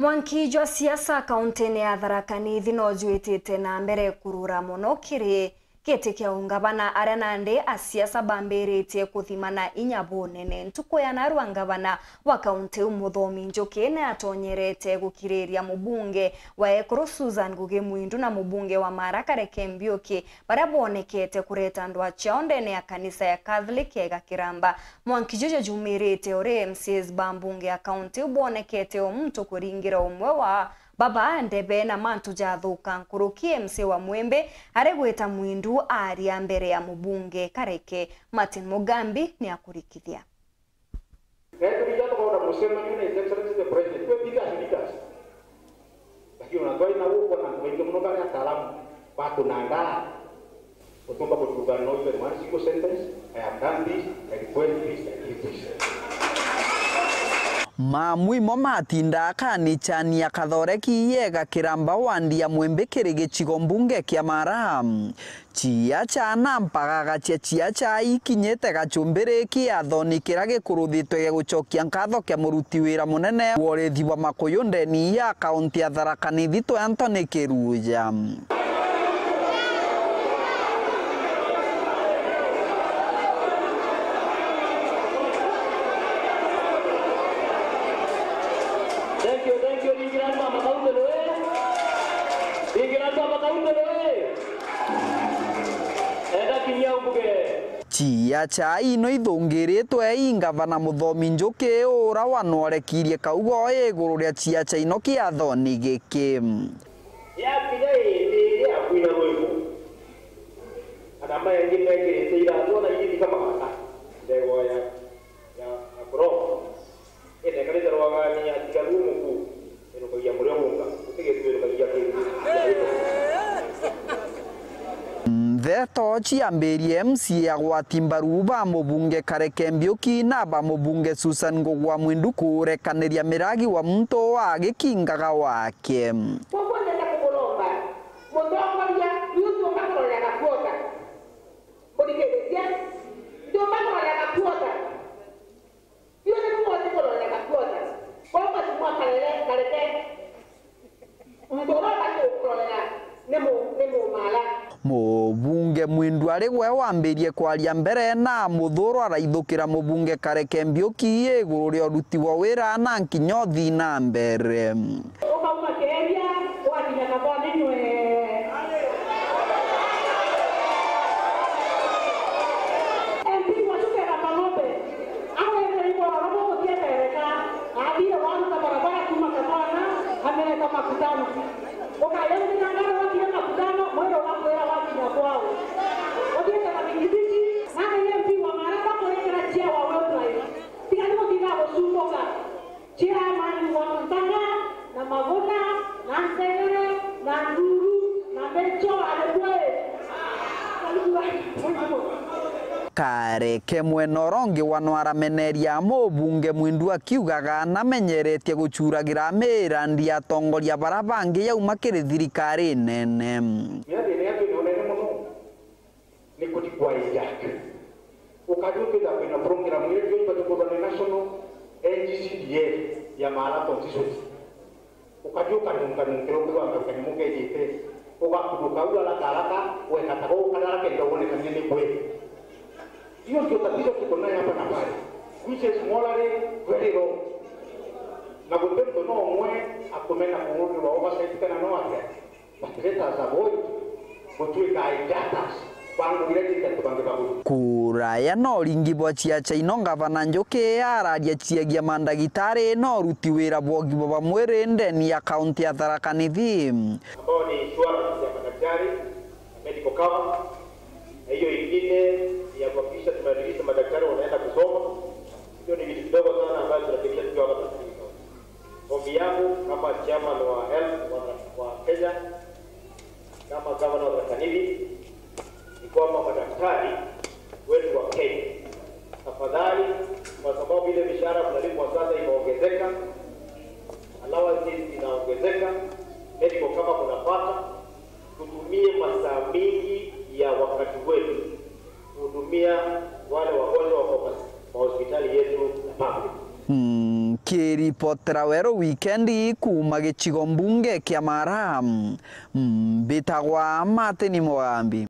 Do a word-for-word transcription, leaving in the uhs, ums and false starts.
Mwanki jwa siasa kauntine ya Tharaka Nithi no jwitite na mbere kurura mono kiri giti kia ungavana, aria nandi asiasa bambiritie kuthimana inya bunene. Ntuku ya narua ngavana wa kaunti iu Muthomi Njuki ni atonyerete gukiriria mubunge wa Ekuru Susan Ngugi Mwindu na mubunge wa Mara Kareke Mbiuki, baria boonekete kureta ndwaa ciao ndene ya kanisa ya Catholic ya Igakiramba. Mwanki juju jumirite uri M C As ba mbunge ya kaunti iu boonekete o muntu kuringira umwe wa baba ndebe na mantu jathuka nkuruki. M C A wa Mwimbi ari gwita Mwindu aaria mbere ya mubunge Kareke. Martin Mugambi ni akurikithia. Na itumi iria tukaona mucemanio na His Excellency the President, twe big as leaders. Lakini unajua ina huko na wengine mno kama ataalamu wako na ndaa. Utumba kutuga no even one single sentence, "I have done this, I request this, I give this." Mamuimo matinda akanichania Kathoreki yega kiramba wandi ya Mwimbi kiri gicigo mbunge kia Mara. Ciaca na mpagaga cia ciaca ikinyite gacumbiri kiathoni kiria gikuruthitwe gia gucokia nkatho kia muruti wira munene wa urithi bwa makuyu ndeni ya kaunti ya Tharaka Nithi, Anthony Kiruja. Thank you, thank you, Ringi Ramba Makaundulu, eh? Ringi Ramba Makaundulu, eh? Enda kinya umbuge. Ciaca ino ithungiritwe i ngavana Muthomi Njuki, ura wanorekirie kaugo iguru ria ciaca ino kiathoni giki. Yakinya indi iria ya kwina rwimbo, ana maengi mekirite iratu ona igithika magata ndegwa ya, ya, ya kuromba. Indi ekarite rwagani atiga ruo muku, irukagia murio munga, utigitwirukagia kingi. Ntheto ciambirie M C A agwati mbaru ba mubunge Kareke Mbiuki na ba mubunge Susan Ngugwa Mwindu kurekaniria miragi wa muntu wa gikingaga wake. Koguo ndenda kumuromba mutongoria, ni utiumba kurorera gakuota. Muthikiririe, ndiumba kurorera gakuota. Iwe ni mumwe utikurorera gakuota. Koguo Mheshimiwa Karere, Kareke, muntu uria ubati gukurorera ni mu-, ni mumala. Mubunge Mwindu ari gwe wambirie kwaria mbere na muthuro araithukira mubunge Kareke Mbiuki iguru ria uruti wa wira na nkinya uthii na mbere. Ukauma Keria, wakinya Kathoni nywe. M P wa Chuka ya Kathoni, awetereirwe oro bugutietereka, athire waruta barabara kuma Kathoni, amereta Makutano. Ukayauthira ngano wakinya Makutano, mwiri ugakwira wakinya kwao. Uthiite na bikibiki, nani M P wa Mara bakwikira cia wa Wilbrite. Tiga ni gutinda gucumbuka. Chairman wa Ntanga, na Maguna, na Nsegere, na Nduru, na Mecho, alikwe. Kareke mwena uria ungi wano arameneria mubunge Mwindu akiugaga namenyeretie gucuragira mirandi ya atongoria bara bangi yauma kiri thirikari nene. Mirandi ino yatwi ni unene muno. Ni kuthi kwa hijack. Ukajua kwitha kwina program iria ndio ibati kuthwa ni National N G C D F ya Mara Constituency. Ukajua ukanunga nunga ukigwa kanyamu kejite. Ugakuruka u haraka haraka, wekataga ukadara kenda uone kanya ni kwe. Hiyo ndio tatizo tuko nayo hapa na pale, which is morally very wrong. Na guti muntu no umwe akumena kuurwa oversight kana no atia. But let us avoid gutwika hijackers ba ngugi iria ciingi antu bangi baguru. Kuraya no ringi bwa ciaca ino ngavana Njuki araria ciagia mandagitari no uruti wira bwa ugima bwa mwiri ndeni ya kaunti ya Tharaka Nithi. Ambao ni insurance ya madaktari na medical cover, na hiyo ingine ni ya kuhakikisha tumerelease madaktari wanaenda kusoma. Hiyo ni vitu kidogo sana ambayo tunategemea tukiwa hapa Tharaka Nithi. Ombi yangu kama chairman wa health wa, wa Kenya, kama governor wa Tharaka Nithi, ni kwamba madaktari wetu wa Kenya, tafadhali, kwa sababu ile mishahara mnalipwa sasa imeongezeka, allowances inaongezeka, medical cover mnapata, tutumie masaa mingi ya wakati wetu kuhudumia wale wagonjwa wako mas-, mahospitali yetu ya public. Mm, ki- Ripotera Weru Wikendi kuuma gicigo mbunge kia Mara, mbitagwa Martin Mugambi.